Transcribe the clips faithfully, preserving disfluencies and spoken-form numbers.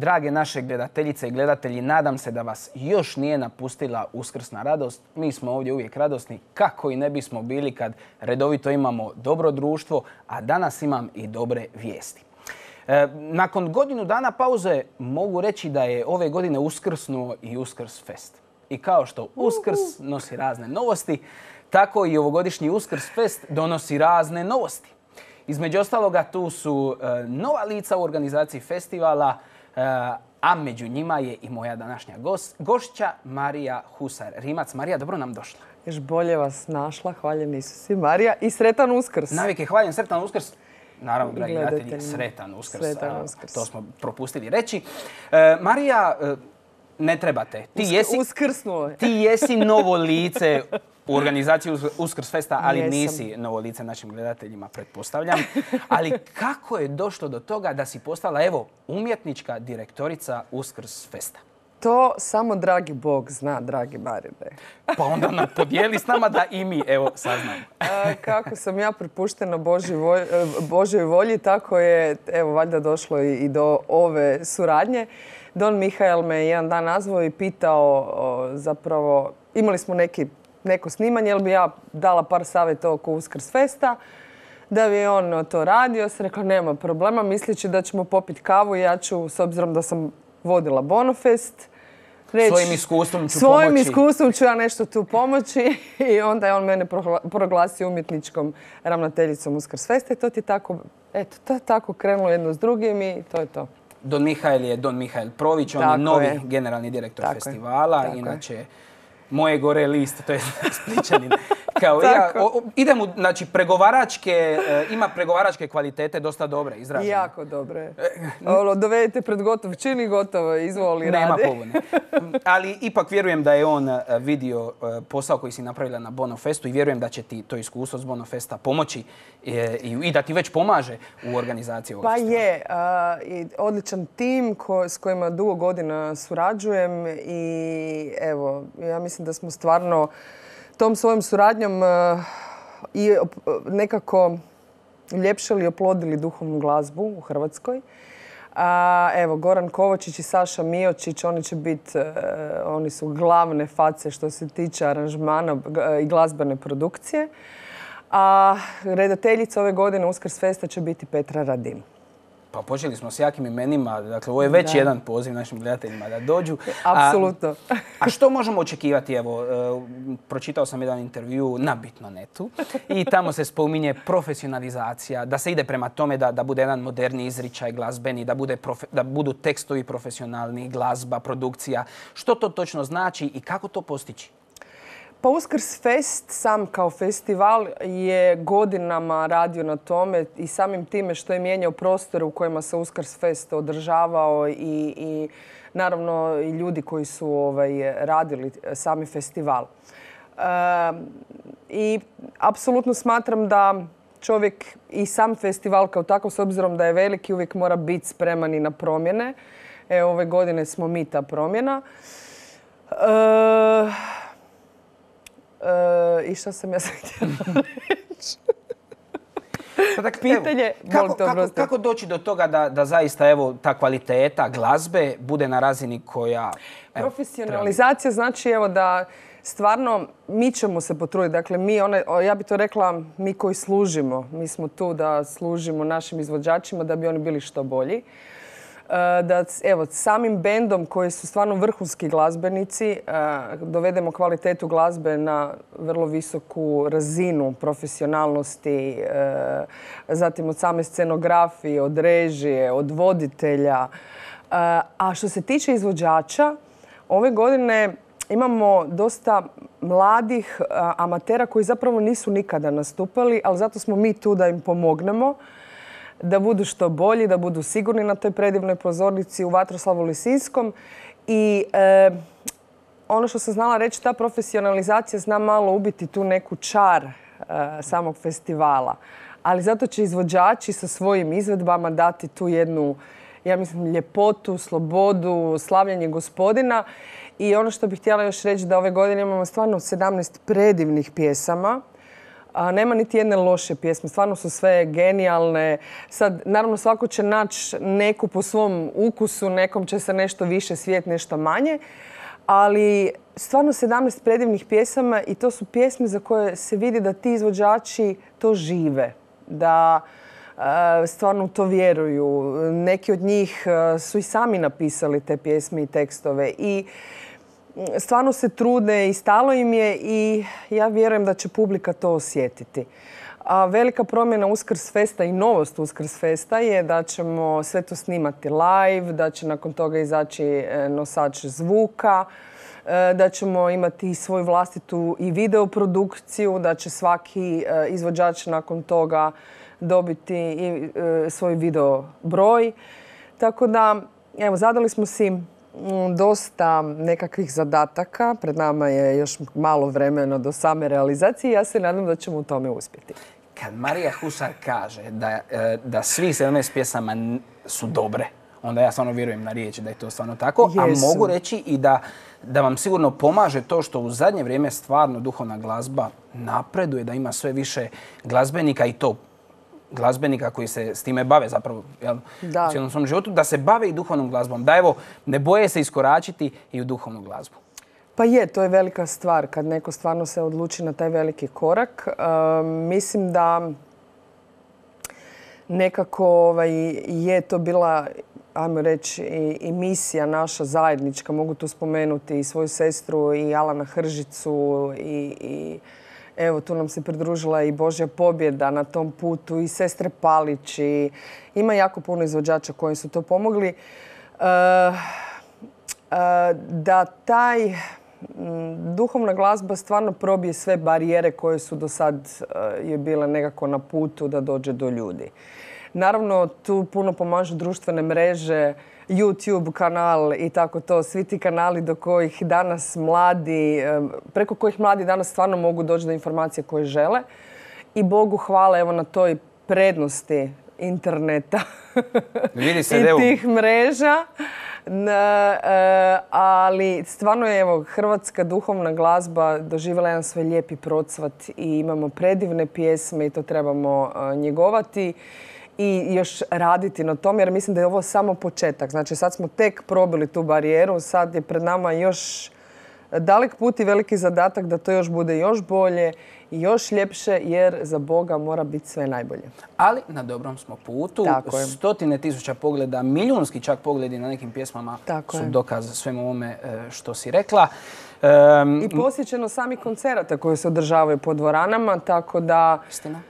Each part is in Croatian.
drage naše gledateljice i gledatelji, nadam se da vas još nije napustila uskrsna radost. Mi smo ovdje uvijek radosni, kako i ne bismo bili kad redovito imamo dobro društvo, a danas imam i dobre vijesti. E, nakon godinu dana pauze mogu reći da je ove godine uskrsnuo i Uskrs Fest. I kao što Uskrs nosi razne novosti, tako i ovogodišnji Uskrs Fest donosi razne novosti. Između ostaloga tu su e, nova lica u organizaciji festivala, e, a među njima je i moja današnja gost, gošća Marija Husar-Rimac. Marija, dobro nam došla. Još bolje vas našla, hvaljeni Isusi Marija i sretan Uskrs. Navike, hvaljen, sretan Uskrs. Naravno, dragi gledatelji, sretan Uskrs. Sretan Uskrs. To smo propustili reći. E, Marija, e, ne trebate. Ti jesi, Uskrsnuo je. Ti jesi novo lice u organizaciji Uskrs Festa, ali Jesam. Nisi novo lice našim gledateljima, pretpostavljam. Ali kako je došlo do toga da si postala, evo, umjetnička direktorica Uskrs Festa? To samo dragi Bog zna, dragi Marine. Pa onda nam podijeli s nama da i mi, evo, saznamo. A, kako sam ja prepuštena Božoj volji, Božoj volji, tako je, evo, valjda došlo i, i do ove suradnje. Don Mihael me jedan dan nazvao i pitao, o, zapravo, imali smo neki, neko snimanje, jel bi ja dala par savjeta oko Uskrs Festa, da bi on to radio. Sam rekla, nema problema, misleći da ćemo popiti kavu i ja ću, s obzirom da sam vodila Bonofest, reći, svojim iskustvom ću svojim pomoći. iskustvom ću ja nešto tu pomoći i onda je on mene proglasio umjetničkom ravnateljicom Uskrs Festa i to ti tako, eto, to je tako krenulo jedno s drugim i to je to. Don Mihael je Don Mihael Prović, on Tako je novi je. generalni direktor Tako festivala, je. Tako inače je. Moje gore list, to je Spličanin. Kao ja, o, idem u, znači, pregovaračke, e, ima pregovaračke kvalitete dosta dobre, izražene. Jako dobre. Ono, dovedete pred gotov čin i gotovo, izvoli, radi. Nema pobune. Ali ipak vjerujem da je on vidio posao koji si napravila na Bonofestu i vjerujem da će ti to iskustvo s Bonofesta pomoći e, i, i da ti već pomaže u organizaciji ovog Pa festivala. je. A, i odličan tim ko, s kojima dugo godina surađujem i evo, ja mislim da smo stvarno tom svojom suradnjom uh, i uh, nekako ljepšali i oplodili duhovnu glazbu u Hrvatskoj. Uh, evo, Goran Kovačić i Saša Miočić, oni će biti, uh, oni su glavne face što se tiče aranžmana uh, i glazbene produkcije. A redateljica ove godine Uskrs Festa će biti Petra Radin. Pa počeli smo s jakim imenima, dakle ovo je već Da. jedan poziv našim gledateljima da dođu. Apsolutno. A, a što možemo očekivati? Evo, uh, pročitao sam jedan intervju na Bitnonetu i tamo se spominje profesionalizacija, da se ide prema tome da, da bude jedan moderni izričaj glazbeni, da, bude profe, da budu tekstovi profesionalni, glazba, produkcija. Što to točno znači i kako to postići? Pa Uskrs Fest sam kao festival je godinama radio na tome i samim time što je mijenjao prostore u kojima se Uskrs Fest održavao i, i naravno i ljudi koji su ovaj, radili sami festival. E, I apsolutno smatram da čovjek i sam festival kao takav, s obzirom da je veliki, uvijek mora biti spreman i na promjene. E, ove godine smo mi ta promjena. E, Uh, I što sam ja sad htjela reći? Pa dakle, Pitanje, evo, kako, molim te kako, oprostiti. kako doći do toga da, da zaista evo, ta kvaliteta glazbe bude na razini koja... Evo, profesionalizacija znači evo da stvarno mi ćemo se potruditi. Dakle, mi, one, ja bi to rekla, mi koji služimo. Mi smo tu da služimo našim izvođačima da bi oni bili što bolji. Da evo, samim bendom koji su stvarno vrhunski glazbenici dovedemo kvalitetu glazbe na vrlo visoku razinu profesionalnosti, zatim od same scenografije, od režije, od voditelja. A što se tiče izvođača, ove godine imamo dosta mladih amatera koji zapravo nisu nikada nastupali, ali zato smo mi tu da im pomognemo da budu što bolji, da budu sigurni na toj predivnoj pozornici u Vatroslavu Lisinskom. I e, ono što sam znala reći, ta profesionalizacija zna malo ubiti tu neku čar e, samog festivala. Ali zato će izvođači sa svojim izvedbama dati tu jednu, ja mislim, ljepotu, slobodu, slavljenje Gospodina. I ono što bih htjela još reći da ove godine imamo stvarno sedamnaest predivnih pjesama. A nema niti jedne loše pjesme. Stvarno su sve genijalne. Sad, naravno, svako će naći neku po svom ukusu, nekom će se nešto više svijet, nešto manje. Ali stvarno sedamnaest predivnih pjesama i to su pjesme za koje se vidi da ti izvođači to žive. Da e, stvarno to vjeruju. Neki od njih su i sami napisali te pjesme i tekstove. I stvarno se trude i stalo im je i ja vjerujem da će publika to osjetiti. A velika promjena Uskrs Festa i novost Uskrs Festa je da ćemo sve to snimati live, da će nakon toga izaći nosač zvuka, da ćemo imati svoju vlastitu i videoprodukciju, da će svaki izvođač nakon toga dobiti i svoj video broj. Tako da, evo, zadali smo si dosta nekakvih zadataka. Pred nama je još malo vremena do same realizacije i ja se nadam da ćemo u tome uspjeti. Kad Marija Husar kaže da, da svih sedamnaest pjesama su dobre, onda ja stvarno vjerujem na riječ da je to stvarno tako. Jesu. A mogu reći i da, da vam sigurno pomaže to što u zadnje vrijeme stvarno duhovna glazba napreduje, da ima sve više glazbenika i to glazbenika koji se s time bave zapravo jel, u cijelom svom životu, da se bave i duhovnom glazbom. Da evo, ne boje se iskoračiti i u duhovnu glazbu. Pa je, to je velika stvar kad neko stvarno se odluči na taj veliki korak. E, mislim da nekako ovaj, je to bila, ajmo reći, i, i misija naša zajednička. Mogu tu spomenuti i svoju sestru i Alana Hržicu i, i evo, tu nam se pridružila i Božja pobjeda na tom putu i sestre Palić. I ima jako puno izvođača koji su to pomogli. E, e, da taj duhovna glazba stvarno probije sve barijere koje su do sad je bile nekako na putu da dođe do ljudi. Naravno, tu puno pomažu društvene mreže, YouTube kanal i tako to. Svi ti kanali do kojih danas mladi, preko kojih mladi danas stvarno mogu doći do informacije koje žele. I Bogu hvala evo na toj prednosti interneta Vidi se, i tih mreža. Ali stvarno je evo, hrvatska duhovna glazba doživjela jedan svoj lijepi procvat i imamo predivne pjesme i to trebamo njegovati i još raditi na tom jer mislim da je ovo samo početak. Znači sad smo tek probili tu barijeru, sad je pred nama još dalek put i veliki zadatak da to još bude još bolje i još ljepše jer za Boga mora biti sve najbolje. Ali na dobrom smo putu. Stotine tisuća pogleda, milijunski čak pogledi na nekim pjesmama Tako su je. dokaz svemu ovome što si rekla. Um, I posjećeno sami koncerata koji se održavaju po dvoranama, tako da... Istina.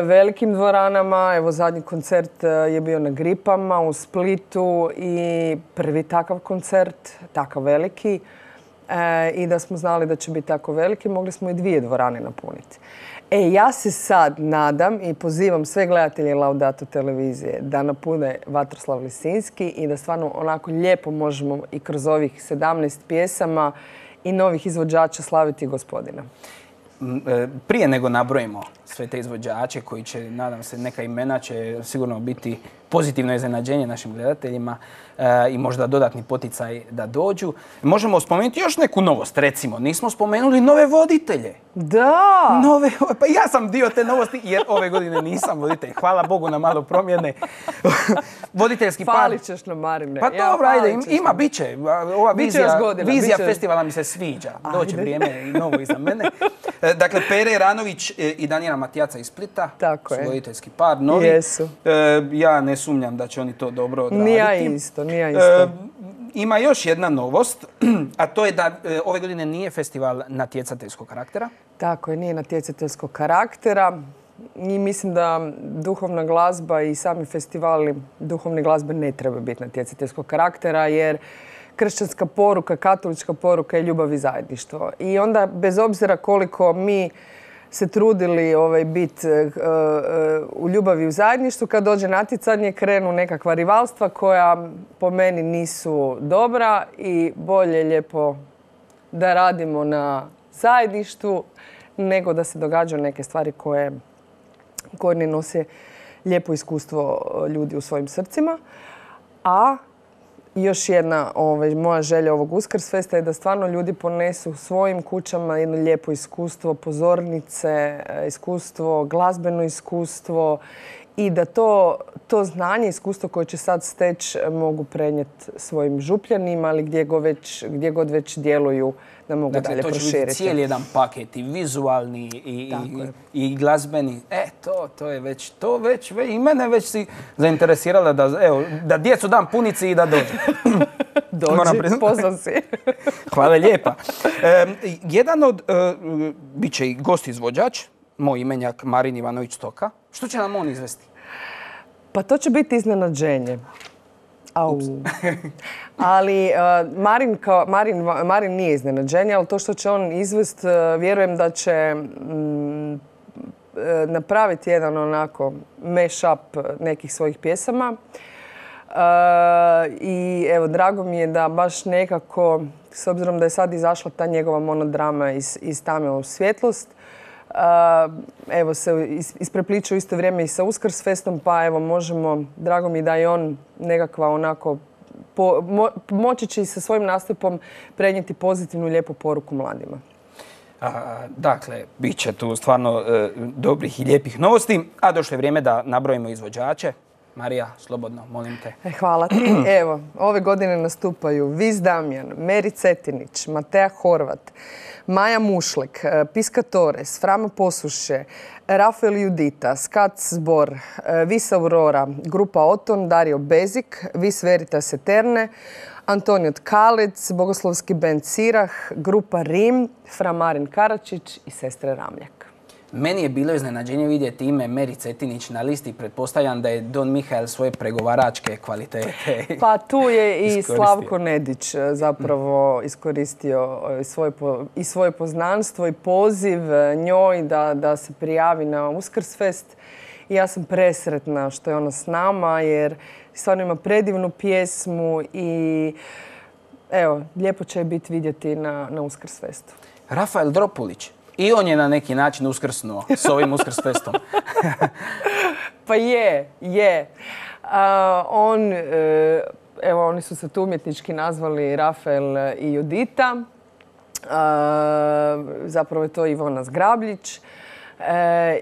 Velikim dvoranama. Evo, zadnji koncert je bio na Gripama u Splitu i prvi takav koncert, takav veliki. E, I da smo znali da će biti tako veliki, mogli smo i dvije dvorane napuniti. E, ja se sad nadam i pozivam sve gledatelje Laudato televizije da napune Vatroslav Lisinski i da stvarno onako lijepo možemo i kroz ovih sedamnaest pjesama i novih izvođača slaviti Gospodina. Prije nego nabrojimo sve te izvođače koji će, nadam se, neka imena će sigurno biti pozitivno iznenađenje našim gledateljima e, i možda dodatni poticaj da dođu. Možemo spomenuti još neku novost, recimo. Nismo spomenuli nove voditelje. Da! Nove, pa ja sam dio te novosti jer ove godine nisam voditelj. Hvala Bogu na malo promjene. Voditeljski par... Falit ćeš nam, Marine. Pa ja, dobro, ajde, ima, bit će. Ova vizija, godina, vizija festivala mi se sviđa. Doće vrijeme i novo iza mene. Dakle, Pere Jeranović i Danijela Matijaca iz Splita. Tako su voditeljski par, novi. Jesu. E, ja ne sumnjam da će oni to dobro odraditi. Nija isto, nija isto. E, ima još jedna novost, a to je da e, ove godine nije festival natjecateljskog karaktera. Tako je, nije natjecateljskog karaktera. I mislim da duhovna glazba i sami festivali duhovne glazbe ne treba biti natjecateljskog karaktera, jer kršćanska poruka, katolička poruka je ljubav i zajedništvo. I onda, bez obzira koliko mi se trudili ovaj, biti uh, uh, u ljubavi i u zajedništvu, kad dođe natjecanje krenu nekakva rivalstva koja po meni nisu dobra i bolje lijepo da radimo na zajedništvu nego da se događaju neke stvari koje, koje ne nose lijepo iskustvo ljudi u svojim srcima. A još jedna ovaj, moja želja ovog Uskrsfesta je da stvarno ljudi ponesu svojim kućama jedno lijepo iskustvo, pozornice, iskustvo, glazbeno iskustvo i da to, to znanje, iskustvo koje će sad steći mogu prenijeti svojim župljanima, ali gdje god već, gdje god već djeluju da mogu dakle, dalje proširiti. Dakle, to će biti cijeli jedan paket, i vizualni, i, i, i glazbeni. E, to, to je već, to već, i mene već si zainteresirala da, evo, da djecu dam punici i da dođe. Dođi, pozvan si. Hvala lijepa. E, jedan od, e, bit će i gost izvođač, moj imenjak Marin Ivanović Stoka. Što će nam on izvesti? Pa to će biti iznenađenje. Au. Ali uh, Marin, kao, Marin, Marin nije iznenađenje, ali to što će on izvest, uh, vjerujem da će mm, uh, napraviti jedan onako mash-up nekih svojih pjesama. Uh, I evo, drago mi je da baš nekako, s obzirom da je sad izašla ta njegova monodrama iz, iz tame u svjetlost, Uh, evo se isprepliču u isto vrijeme i sa Uskrsfestom, pa evo možemo, drago mi da i on nekakva onako, po, mo, moći će i sa svojim nastupom prenijeti pozitivnu lijepu poruku mladima. A, dakle, bit će tu stvarno e, dobrih i lijepih novosti, a došlo je vrijeme da nabrojimo izvođače. Marija, slobodno, molim te. E, hvala ti. Evo, ove godine nastupaju Vis Damjan, Meri Cetinić, Matea Horvat, Maja Mušlek, Piscatores, Frama Posuše, Rafael Judita, Skat Zbor, Vis Aurora, Grupa Oton, Dario Bezik, Vis Veritas Eterne, Antonio Tkalec, Bogoslovski bend Sirah, Grupa Rim, Fra Marin Karačić i Sestre Ramljak. Meni je bilo iznenađenje vidjeti ime Meri Cetinić na listi. Pretpostavljam da je Don Mihael svoje pregovaračke kvalitete Pa tu je i Slavko Nedić zapravo iskoristio svoje, i svoje poznanstvo i poziv njoj da, da se prijavi na Uskrsfest. I ja sam presretna što je ona s nama jer stvarno ima predivnu pjesmu i evo, lijepo će je biti vidjeti na, na Uskrsfestu. Rafael Dropulić. I on je na neki način uskrsnuo s ovim Uskrsfestom. Pa je, je. Uh, on, uh, evo, oni su se tu umjetnički nazvali Rafael i Judita. Uh, zapravo je to Ivona Zgrabljić. Uh,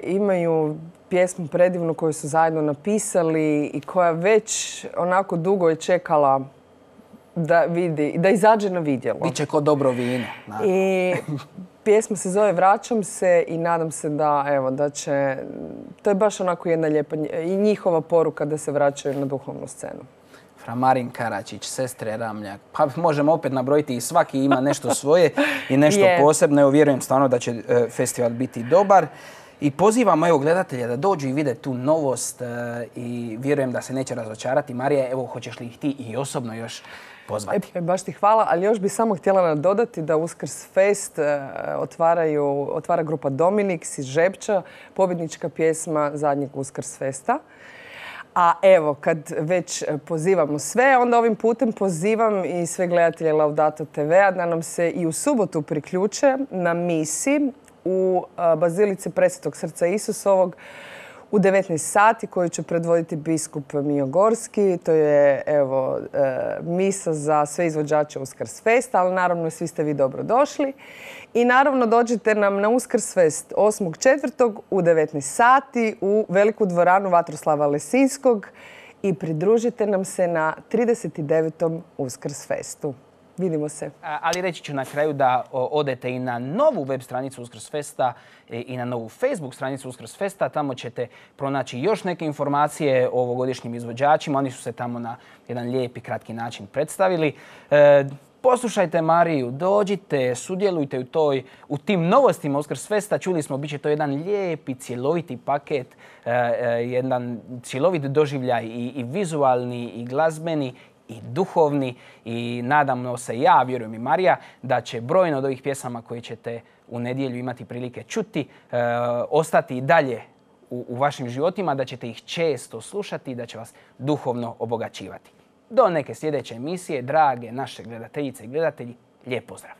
imaju pjesmu predivnu koju su zajedno napisali i koja već onako dugo je čekala da vidi, da izađe na vidjelo. Biće ko dobro vino. I pjesma se zove Vraćam se i nadam se da, evo, da će... To je baš onako jedna lijepa i njihova poruka da se vraćaju na duhovnu scenu. Fra Marin Karačić, Sestre Ramljak. Pa možemo opet nabrojiti i svaki ima nešto svoje i nešto yeah. posebno. Evo, vjerujem stvarno da će festival biti dobar. I pozivamo evo gledatelja da dođu i vide tu novost i vjerujem da se neće razočarati. Marija, evo, hoćeš li ih ti i osobno još pozvati? E, baš ti hvala, ali još bih samo htjela nadodati da Uskrsfest otvaraju, otvara grupa Dominix iz Žepča, pobjednička pjesma zadnjeg Uskrsfesta. A evo, kad već pozivamo sve, onda ovim putem pozivam i sve gledatelje Laudato te ve-a da nam se i u subotu priključe na misi u Bazilici Presvetog srca Isusovog u devetnaest sati koju će predvoditi biskup Mijo Gorski. To je evo, misa za sve izvođače Uskrsfesta, ali naravno svi ste vi dobro došli. I naravno dođite nam na Uskrsfest osmog četvrtog u devetnaest sati u veliku dvoranu Vatroslava Lesinskog i pridružite nam se na trideset devetom Uskrsfestu. Vidimo se. Ali reći ću na kraju da odete i na novu web stranicu Uskrsfesta i na novu Facebook stranicu Uskrsfesta. Tamo ćete pronaći još neke informacije o ovogodišnjim izvođačima. Oni su se tamo na jedan lijep i kratki način predstavili. E, poslušajte Mariju, dođite, sudjelujte u, toj, u tim novostima Uskrsfesta. Čuli smo, bit će to jedan lijepi, cjeloviti paket, e, e, jedan cjelovit doživljaj i, i vizualni i glazbeni i duhovni i nadamo se, ja vjerujem i Marija, da će brojno od ovih pjesama koje ćete u nedjelju imati prilike čuti, e, ostati i dalje u, u vašim životima, da ćete ih često slušati i da će vas duhovno obogaćivati. Do neke sljedeće emisije, drage naše gledateljice i gledatelji, lijep pozdrav!